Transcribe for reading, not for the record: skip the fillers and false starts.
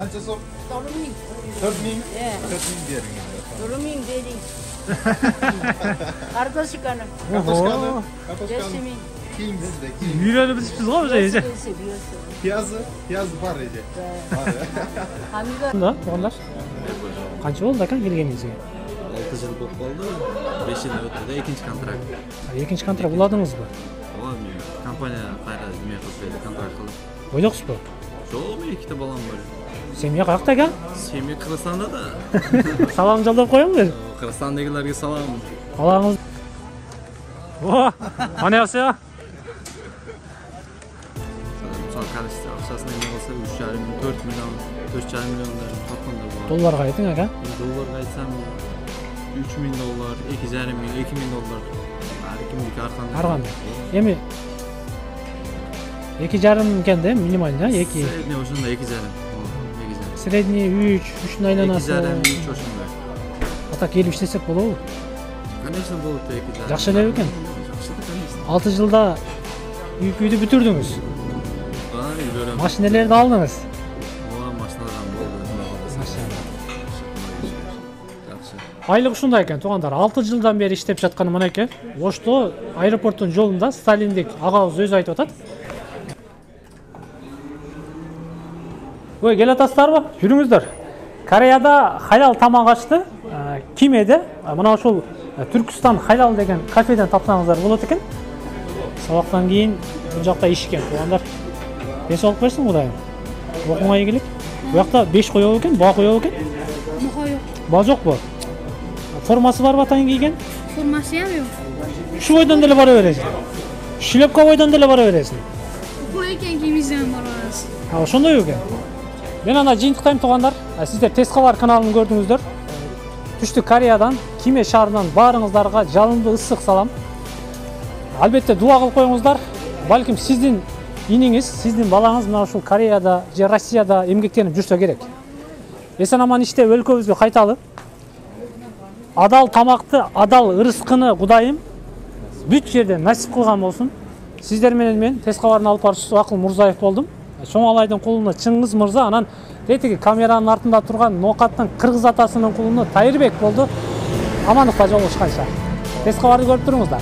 Qancha so'm? 4000. 4000? He. 4000 bering. 4000 bering. Kartoshkani. Kartoshkani? 5000. Keyin bizda, keyin. Yurani bitibsiz go o'sha eje. Piyozi bor eje. Hamida. Bunda, tug'anlar. Qancha bo'ldi aka kelganingizga? 6 yil bo'lib qoldi. 5 yil o'tdi, ikkinchi kontrakt. Ikkinchi kontrakt uladingizmi? Voy, kompaniya qayerda nima qilib kontrakt qilib. O'yliqsizmi? Yo'q, men ikkita bolam bor. Semya qayerda aka? Semya Qirg'izistonda da. Salom yo'llab qo'yinglar. Qirg'izistondagilarga salom. Balаңыз. О, mana yoqsa. Misol qarashsa, asosan nima bo'lsa 3,5 4 million, 4,5 millionlar topganda bor. Dollarga ayting aka. Dollarga aytsam 3,000 dollar, 2,5 ming, 2,000 dollar. Har kimniki har qanday. Har qanday. Эми 2,5 ekanda минимально 2. Средний o'shanda 2,5. Средний 3, 3 айланасы. 2,5 3 o'shanda. Ата келип иштесек болобу? Конечно, bo'ladi 2,5. Жакшы эле экен. Жакшы да, конечно. 6 жылда үйдү бүтүрдүңүз. Машиналарды алдыңыз. Ооба, машиналардан болду. Машина. Жакшы. Айлык ушундай экен, туугандар. 6 жылдан бери иштеп жатканы мынакей. Ошто аэропорттун жолунда Сталиндик агабыз өзү айтып атат. Ой, кел атасыздарбы? Жүрүңүздөр. Кореяда халал тамак ачты. Кимеде мына ушул Түркүстан халал деген кафеден тапсаңыздар болот экен. Сабактан кийин бул жакта ишкен туугандар. Ден соолук берсин Кудайым. Окуңа ийгилик. Бу жакта 5 коёбу экен, баа коёбу экен? Баа жок. Баа жокпу? Формасы барбы атайын кийген? Формасы жок. Ушу бойдон деле бара бересиң. Шлепка бойдон деле бара бересиң. Бул экен кимизден барабыз. Ошондой экен. Мен ана жыйынтыктайм туугандар. Сиздер Тез кабар каналын көрдүңүздөр. Түштүк Кореядан, Киме шаарынан баарыңыздарга жалындуу ысык салам. Албетте дуа кылып коюңуздар. Балким сиздин иниңиз, сиздин балаңыз мына ушул Кореяда же Россияда эмгектенип жүрсө керек. Эсен аман иштеп өлкөбүзгө кайталы. Адал тамакты, адал ырыскыны Кудайым бүт жерде насип кылган болсун. Сиздер менен мен Тез кабарын алып баруучусу Акыл Мурзаев болдум. Чоңалайдын кулуна Чыңгыз мырза, анан тетиги камеранын артында турган Ноокаттын кыргыз атасынын кулуна Тайырбек болду. Амандыкта жолугушканча. Тез кабарды көрүп туруңуздар.